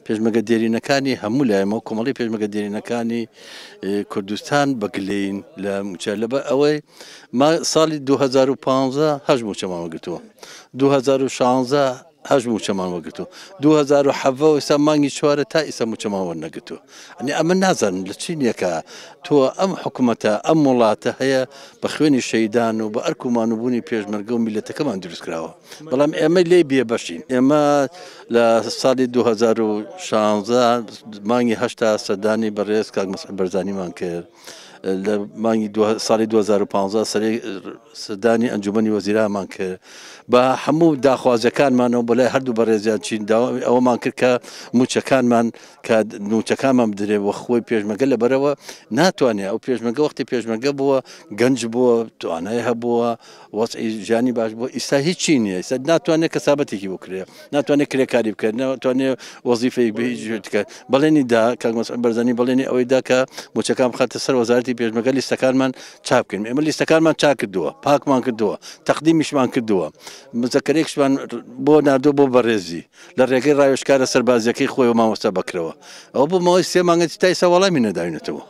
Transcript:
پێشمەرگە دێرینەکانی هەموو لایەمەوە کۆمەڵی پێشمەرگە دێرینەکانی کوردستان بە گلەیین لە مووچە لەبەر ئەوەی ما ساڵی 2015 هەشت مووچەمان وەرگرتووە، 2016 هەشت مووچەمان وەرگرتووە، 2017 ئێستا مانگی چوارە تا ئیستا مووچەمان وەرنەگرتووە. ئەنی ئەمە نازانم لە چی نییە کە تۆ ئەم حکوومەتە ئەم وڵاتە هەیە بە خوێنی شەیدان و بە ئەرک و مانوبوونی پێشمەرگە و میلەتەکەمان دروست کراوە، بەڵام ئێمە لێی بێبەشین. ئێمە لە ساڵی 2016 مانگی هەشتا سەردانی بەڕێز کاک مەسعود بەرزانیمان کرد. لە مانگی ساڵی 2015 سەردانی ئەنجومەنی وەزیرانمان کرد بە هەموو داخوازیەکانمانەوە بۆ لای هەردوو بەڕێزیان چین داوای ئەوەمان کرد کە موچەکانمان کە نوچەکانمان بدرێ وە خۆی پێشمەگە لەبەرەوە ناتوانێت ئەو پێشمەگە وەختی پێشمەگە بووە گەنج بووە توانای هەبووە وەزعی ژیانی باش بووە ئیستا هیچی نییە ئیستا ناتوانێت کەسابەتێکی بکرێ ناتوانێت کرێکاری بکات ناتوانێت وەزیفەیەک بە هیچ بکات بەڵێنی دا کاک مەسعود بەرزانی بەڵێنی ئەوەی دا کە موچەکان بخاتە سەر وەزارەتی پێشمەرگە لیستەکانمان چاپ بکەین ئێمە لیستەکانمان چاک کردووە پاکمان کردووە تەقدیمیشمان کردووە مزەکەرێکشمان بۆ ناردووە بۆ بەڕێزی لە ڕێگەی ڕاوێژکارە سەربازیەکەی خۆی و مامۆستا بەکرەوە ئەوە بۆ ماوەی سێ مانگە تا ئێستا وەڵامی نەداوینەتەوە.